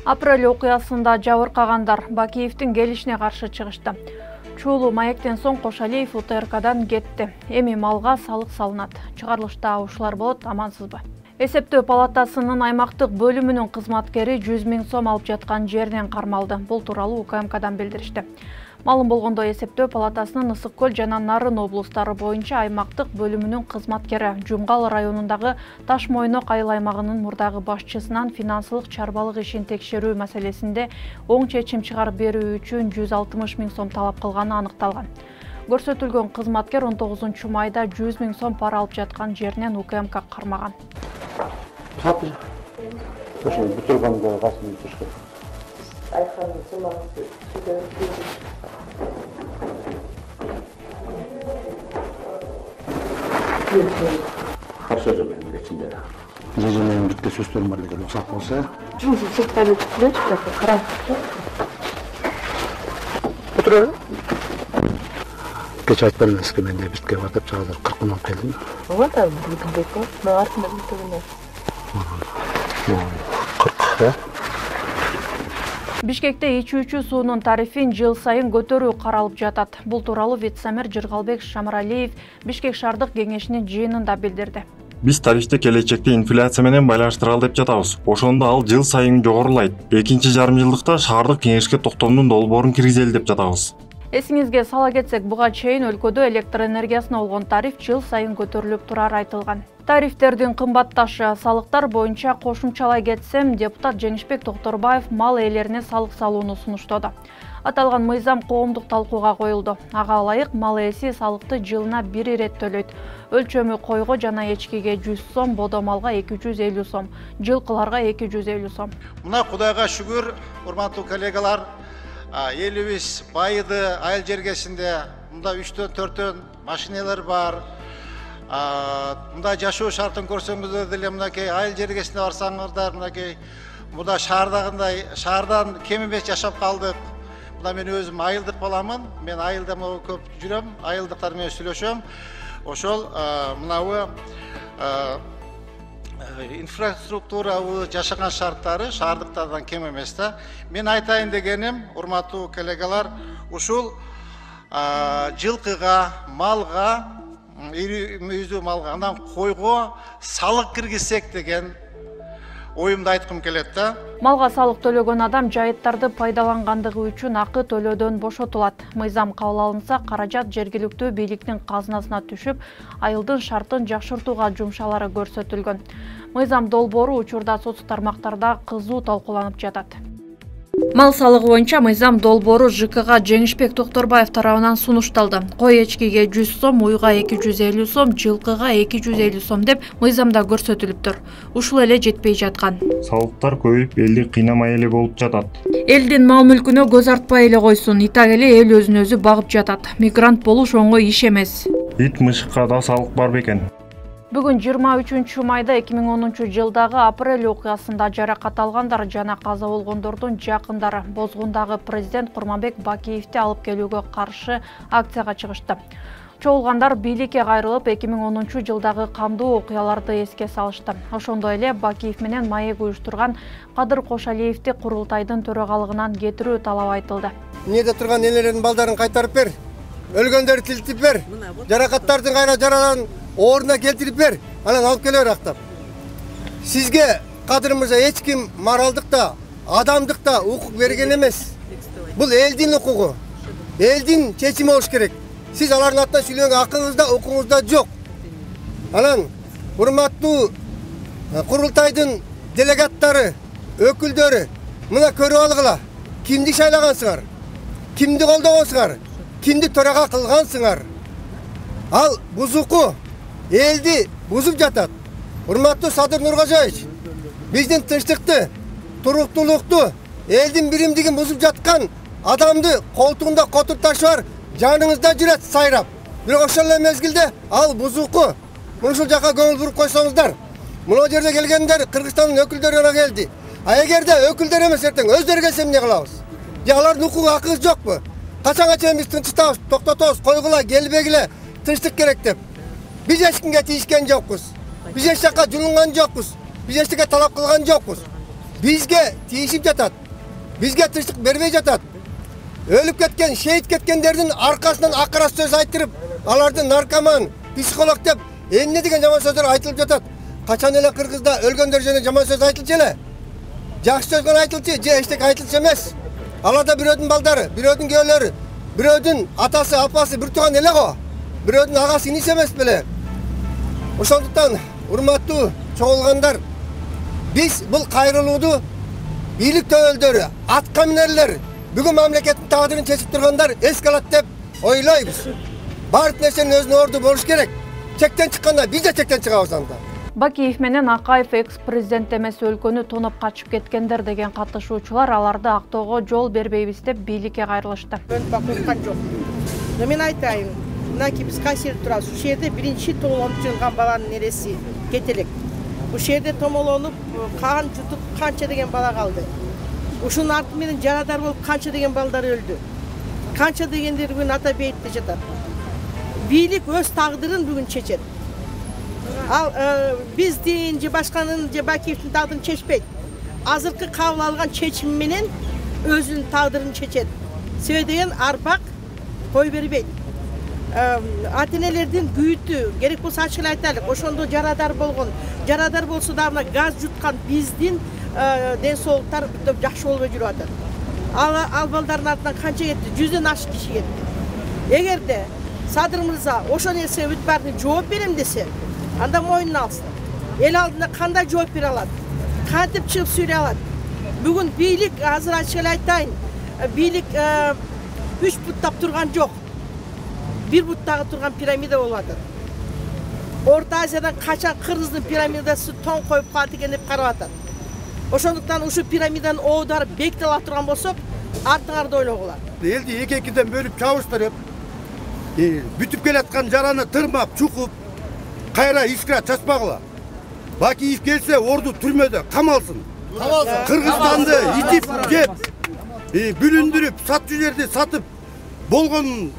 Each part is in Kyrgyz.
Апрель окуясында жабыркагандар Бакиевдин келишине каршы чыгышты. Чуулуу маектен соң Кошалиев УТРКдан кетти. Эми малга салык салынат. Чыгарылышта ушулар болот, амансызбы? Эсептөө палатасынын аймактык бөлүмүнүн кызматкери 100 000 сом алып жаткан жеринен кармалды. Бул тууралуу УКМКдан билдиришти. Малым болгондо эсептөө палатасынын Ысык Көл жана Нарын облустары боюнча аймактык бөлүмүнүн кызматкери Жумгал районундагы Таш Мойнок айыл аймагынын мурдагы башчысынан финансылык чарбалык ишин текшерүү маселесинде оң чечим чыгарып берүү үчүн 160 000 сом талап кылганы аныкталган. Көрсөтүлгөн кызматкер 19 майда 100 000 сом пара алып жаткан жеринен УКМК кармаган. Каршы жолдон ичинде. Менин бирде сөздөр бар деген уруксат болсо. Жумуш сектор өтүп караңыз. Отур. Кеч айтып бермеске менде битке бардып чагылып 40 миң келдим. Ооба да, бүгүн беко. Мен артында бүтөгүнө. 40. Бишкекте ичүүчү суунун тарифин жыл сайын көтөрүү каралып жатат. Бул тууралуу вице-мэр Жыргалбек Шамыралиев Бишкек шаардык кеңешинин жыйынында билдирди. Биз тарифти келечекте инфляция менен байланыштыралы деп жатабыз. Ошондо ал жыл сайын жогорулайт. Экинчи жарым жылдыкта шаардык кеңешке токтомдун долбоорун киргизели деп жатабыз. Эсиңизге сала кетсек, буга чейин өлкөдө электр энергиясына болгон тариф жыл сайын көтөрүлүп турары айтылган. Тарифтердин кымбатташы салыктар боюнча кошумчалай кетсем, депутат Жеңишбек Токторбаев мал ээлерине салык салууну сунуштоду. Аталган мыйзам коомдук талкууга коюлду. Ага ылайык мал ээси салыкты жылына 1 ирет төлөйт. Өлчөмү койго жана эчкиге 100 сом, бодо малга 250 сом, жылкыларга 250 сом. Мына Кудайга шүгүр, урматтуу коллегалар, элибиз байыды айыл жергесинде, мында 3-4 машиналар бар. Мында жашоо шартын көрсөңүздөр деле мынакей айыл жергесине барсаңыздар, мынакей мында шаардагындай шаардан кем эмес жашап калдык. Мына мен өзүм айылдык баламын. Мен айылда көп жүрөм, айылдыктар менен сүйлөшөм. Ошол мынабу инфраструктура жашаган шарттары шаардыктардан кем эмес да. Мен айтайын дегеним, урматтуу коллегалар, ушул жылкыга, малга, мүйүздүү малга, андан койго салык киргизсек деген оюмду айткым келет да. Малга салык төлөгөн адам жайыттарды пайдалангандыгы үчүн акы төлөөдөн бошотулат. Мыйзам кабыл алынса, каражат жергиликтүү бийликтин казынасына түшүп, айылдын шартын жакшыртууга жумшалары көрсөтүлгөн. Мыйзам долбоору учурда соттук тармактарда кызуу талкууланып жатат. Мал салыгы боюнча мыйзам долбоору ЖКга Жеңишбек Токторбаев тарабынан сунушталды. Кой эчкиге 100 сом, уйга 250 сом, жылкыга 250 сом деп мыйзамда көрсөтүлүптүр. Ушул эле жетпей жаткан. Салыктар көбөйүп, элди кыйнамай эле болуп жатат. Элдин мал мүлкүнө көз артпай эле койсун, итак эле эл өзүн өзү багып жатат. Мигрант болуш оңой иш эмес. Ит мышыкка да салык бар бекен. Бүгүн 23 майда 2010 жылдагы апрель окуясында жаракат алгандар жана каза болгондордун жакындары Бозгундагы президент Курманбек Бакиевди алып келүүгө каршы акцияга чыгышты. Чогулгандар бийликке кайрылып 2010 жылдагы кандуу окуяларды эске салышты. Ошондой эле Бакиев менен маек уюштурган Кадыр Кошалиевди курултайдын төрагалыгынан кетирүү талап айтылды. Эмнеде турган элердин балдарын кайтарып бер. Өлгөндөрдү тилтип бер. Жаракаттардын кайра жараларын ордуна келтирип бер. Анан алып келе бер актап. Сизге Кадыр мырза эч ким моралдыкта, адамдыкта укук берген эмес. Бул элдин укугу. Элдин чечими болуш керек. Сиз алардын атынан сүйлөгөнгө акыңызда, укуңузда жок. Анан урматтуу курултайдын делегаттары, өкүлдөрү, мына көрүп алгыла. Кимди шайлагансыңар? Кимди колдогонсуңар? Кимди төрага кылгансыңар? Ал бузуку элди бузуп жатат. Урматтуу Садыр Нуркожоевич, биздин тынчтыкты, туруктуулукту, элдин биримдигин бузуп жаткан адамды колтугунда котур ташы бар, жаныңызда жүрөт сайрап. Бирок ошол эле мезгилде ал бузуку ушул жака көңүл буруп койсоңуздар. Мына жерде келгендер Кыргызстандын өкүлдөрү гана келди. А эгерде өкүлдөр эмес эртең өздөрү келсе эмне кылабыз? Же алардын укугу акыбыз жокпу? Качанга чейин биз тынчтабыз, токтотобуз, койгула, келбегиле, тынчтык керек деп. Биз эч кимге тийишкен жокпуз. Биз эч жака жулунган жокпуз. Биз эч нерсе талап кылган жокпуз. бизге тийишип жатат. Бизге тынчтык бербей жатат. Өлүп кеткен, шейит кеткендердин аркасынан акыра сөз айтырып, аларды наркоман, психолог деп эмне деген жаман сөздөр айтылып жатат. Качан эле Кыргызда өлгөндөр жөнүндө жаман сөз айтылчу эле? Жакшы сөз гана айтылчу, же эчтеке айтылчу эмес. Аларда бирөөдүн балдары, бирөөдүн күйөөлөрү, бирөөдүн атасы, апасы бир тууган эле го. Бирөөдүн агасы, иниси эмес беле? Ошондуктан, урматтуу чоңулгандар, биз бул кайрылууду бийлик төбөлдөрү, атка минерлер, бүгүн мамлекеттин тагдырын чечип тургандар эске алат деп ойлойбуз. Баардык нерсенин өзүнүн орду болуш керек. Чектен чыкканда биз да чектен чыгабыз анда. Бакиев менен Акаев экс-президент эмес өлкөнү тоноп качып кеткендер деген катышуучулар аларды актоого жол бербейбиз деп бийликке кайрылышты. Корккан жок. Но мен айтайын, мынакей биз кайсерде турабыз. Ушул жерде биринчи томолонуп жылган баланын нереси кетелек. Ушул жерде томолонуп кан жутуп канча деген бала калды. Ушунун арты менен жарадар болуп канча деген балдар өлдү. Канча дегендер бүгүн ата бейитте жатат. Бийлик өз тагдырын бүгүн чечет. Ал биздин же башканын же Бакиевдин тагдырын чечпейт. Азыркы кабыл алган чечим менен өзүнүн тагдырын чечет. Себеби деген арбак кой бербейт. Ата-энелердин күйүтү керек болсо ачык эле айтайлык. Ошондо жарадар болгон, жарадар болсо да мына газ жуткан биздин ден соолуктар жакшы болбой жүрүп атат. Ал балдардын артынан канча кетти? 100дөн ашык киши кетти. Эгерде Садыр мырза ошол нерсеге бүт баардыгына жооп берем десе, анда мойнуна алсын. Эл алдында кандай жооп бере алат? Кантип чыгып сүйлөй алат? Бүгүн бийлик, азыр ачык эле айтайын, бийлик 3 буттап турган жок. 1 буттагы турган пирамида болуп атат. Орто Азиядан качан Кыргыздын пирамидасы тоң коюп калат экен деп карап атат. Ошондуктан ушул пирамиданын оодары беките ала турган болсок, артыңарды ойлогула. Элди эки-экиден бөлүп чабыштыр деп, бүтүп келаткан жараны тырмап, чукуп, кайра искра чачпагыла. Бакиев келсе, орду түрмөдө камалсын. Кыргызстанды итип жеп, бүлүндүрүп, сатчу жерди сатып болгон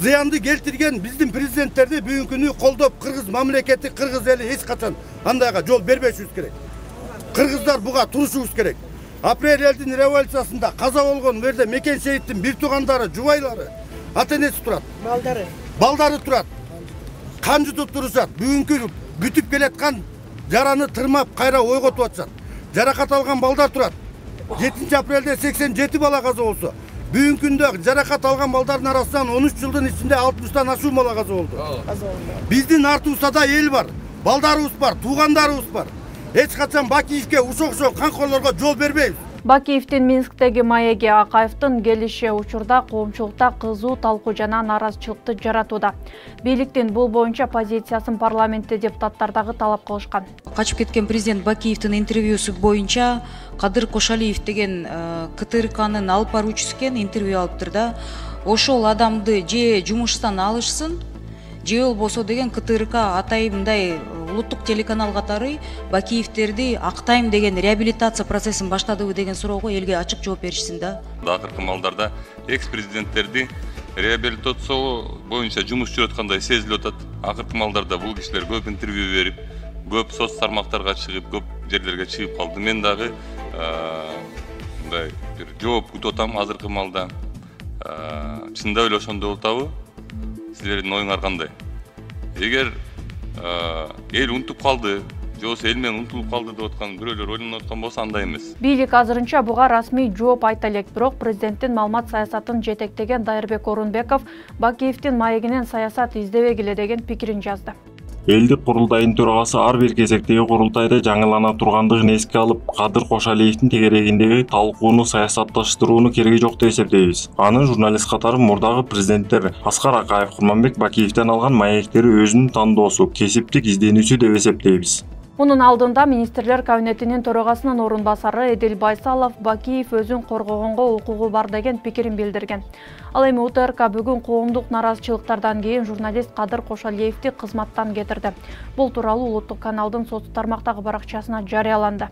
зыянды келтирген биздин президенттерди бүгүнкү күнү колдоп, кыргыз мамлекети, кыргыз эли эч качан андайга жол бербешибиз керек. Кыргыздар буга турушубуз керек. Апрель элдин революциясында каза болгон жерде Мекен шейиттин бир туугандары, жубайлары, ата-энеси турат. Балдары турат. Кан жутуп турушат. Бүгүнкү бүтүп келаткан жараны тырмап кайра ойготуп атышат. Жаракат алган балдар турат. 7 апрелде 87 бала каза болсо, бүгүнкү күндө жаракат алган балдардын арасынан 13 жылдын ичинде 60тан ашуу бала каза болду. Биздин артыбызда да эл бар, балдарыбыз бар, туугандарыбыз бар. Эч качан Бакиевке ушок канкорлорго жол бербейбиз. Бакиевдин Минсктеги маеги Акаевдин келиши учурда коомчулукта кызуу талкуу жана нааразычылыкты жаратууда. Бийликтин бул боюнча позициясын парламентте депутаттар дагы талап кылышкан. Качып кеткен президент Бакиевдин интервьюсу боюнча Кадыр Кошалиев деген КТРКнын алып баруучусу экен, интервью алыптыр да. Ошол адамды же жумуштан алышсын, же болбосо деген КТРК атайымдай улуттук телеканал катары Бакиевтерди актайм деген реабилитация процессин баштадыбы деген суроого элге ачык жооп беришсин да. Акыркы малдарда экс-президенттерди реабилитациялоо боюнча жумуш жүрүп аткандай сезилип атат. Акыркы малдарда бул кишилер көп интервью берип, көп соц тармактарга чыгып, көп жерлерге чыгып калды. Мен дагы мындай бир жооп күтүп атам азыркы малда. Чындап эле ошондой болтабы? Силердин оюңар кандай? Эгер эл унутуп калды, же болбосо эл менен унутулуп калды деп аткан бирөөлөр ойлонуп аткан болсо андай эмес. Бийлик азырынча буга расмий жооп айта элек, бирок президенттин маалымат саясатын жетектеген Дайырбек Орунбеков Бакиевдин маегинен саясат издебегиле деген пикирин жазды. Элдик курултайдын төрагасы ар бир кезектеги курултайда жаңылана тургандыгын эске алып, Кадыр Кошалиевдин тегерегиндеги талкууну саясатташтырууну кереги жок деп эсептейбиз. Анын журналист катары мурдагы президенттер Аскар Акаев, Курманбек Бакиевден алган маектери өзүнүн тандоосу, кесиптик изденүүсү деп эсептейбиз. Мунун алдында министрлер кабинетинин төрагасынын орун басары Эдил Байсалов Бакиев өзүн коргогонго укугу бар деген пикирин билдирген. Ал эми УТРК бүгүн коомдук нааразычылыктардан кийин журналист Кадыр Кошалиевди кызматтан кетирди. Бул тууралуу улуттук каналдын соц тармактагы баракчасына жарыяланды.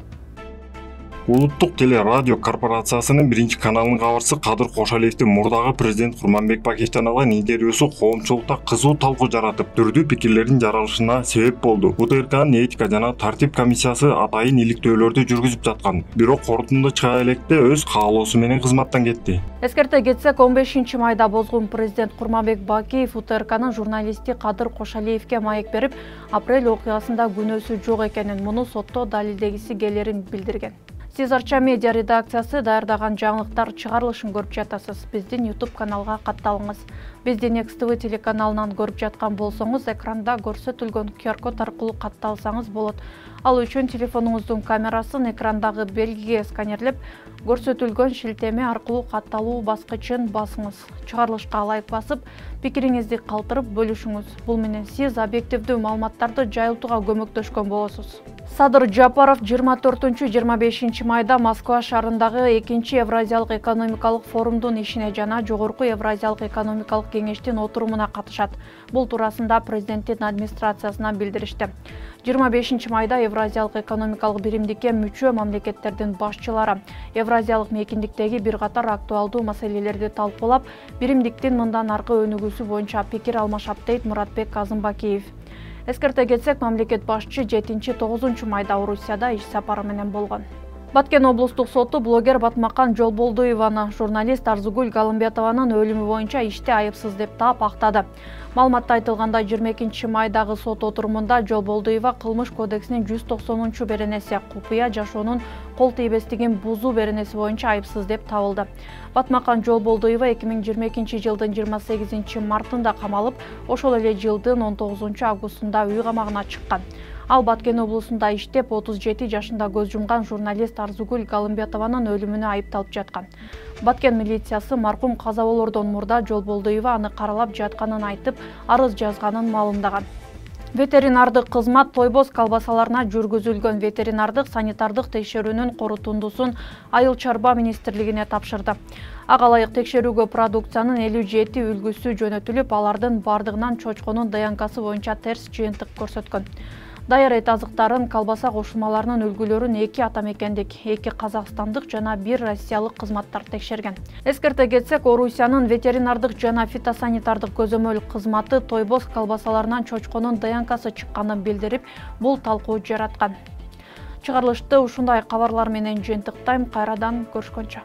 Улуттук телерадио корпорациясынын 1-каналынын кабарчысы Кадыр Кошалиевдин мурдагы президент Курманбек Бакиевден алган интервьюсу коомчулукта кызуу талкуу жаратып, түрдүү пикирлердин жаралышына себеп болду. УТРКнын этика жана тартип комиссиясы атайын иликтөөлөрдү жүргүзүп жаткан, бирок корутунда чыга электе өз каалоосу менен кызматтан кетти. Эскерте кетсек, 15-майда бозгун президент Курманбек Бакиев УТРКнын журналисти Кадыр Кошалиевге маек берип, апрель окуясында күнөөсү жок экенин, муну сотто далилдегиси келерин билдирген. Сиз Арча медиа редакциясы даярдаган жаңылыктар чыгарылышын көрүп жатасыз. Биздин YouTube каналга катталыңыз. Бизди Next TV телеканалынан көрүп жаткан болсоңуз, экранда көрсөтүлгөн QR код аркылуу катталсаңыз болот. Ал үчүн телефонуңуздун камерасын экрандагы белгиге сканерлеп, көрсөтүлгөн шилтеме аркылуу катталуу баскычын басыңыз. Чыгарылышка лайк басып, пикириңизди калтырып бөлүшүңүз. Бул менен сиз объективдүү маалыматтарды жайылтууга көмөктөшкөн болосуз. Садыр Жапаров 24-25 майда Москва шаарындагы 2-чи Евразиялык экономикалык форумдун ишине жана Жогорку Евразиялык экономикалык кеңештин отурумуна катышат. Бул туурасында президенттин администрациясынан билдиришти. 25 майда Евразиялык экономикалык биримдикке мүчө мамлекеттердин башчылары Евразиялык мейкиндиктеги бир катар актуалдуу маселелерди талкуулап, биримдиктин мындан аркы өнүгүүсү боюнча пикир алмашат, дейт Муратбек Казымбакиев. Эскерте кетсек, мамлекет башчы 7-9 майда Орусияда иш сапары менен болгон. Баткен облустук соту блогер Батмакан Жолболдуеваны журналист Арзугүл Галымбетованын өлүмү боюнча иште айыпсыз деп таап актады. Маалыматта айтылгандай, 22 майдагы сот отурумунда Жолболдуева кылмыш кодексинин 190 беренеси купуя жашоонун кол тийбестигин бузуу беренеси боюнча айыпсыз деп табылды. Батмакан Жолболдуева 2022 жылдын 28 мартында камалып, ошол эле жылдын 19 августунда үй камагына чыккан. Ал Баткен облусунда иштеп 37 жашында көз жумган журналист Арзугүл Галымбетованын өлүмүнө айыпталып жаткан. Баткен милициясы маркум каза болордон мурда Жолболдуева аны каралап жатканын айтып, арыз жазганын маалымдаган. Ветеринардык кызмат тойбоз колбасаларына жүргүзүлгөн ветеринардык санитардык текшерүүнүн корутундусун Айыл чарба министрлигине тапшырды. Ага ылайык текшерүүгө продукциянын 57 үлгүсү жөнөтүлүп, алардын бардыгынан чочконун ДНКсы боюнча терс жыйынтык көрсөткөн. Даяр эт азыктарын, колбаса кошулмаларынын үлгүлөрүн 2 атамекендик, 2 казакстандык жана 1 россиялык кызматтар текшерген. Эскерте кетсек, Орусиянын ветеринардык жана фитосанитардык көзөмөл кызматы тойбоз колбасаларынан чочконун ДНКсы чыкканын билдирип, бул талкуу жараткан. Чыгарылышты ушундай кабарлар менен жыйынтыктайм. Кайрадан көрүшкөнчө.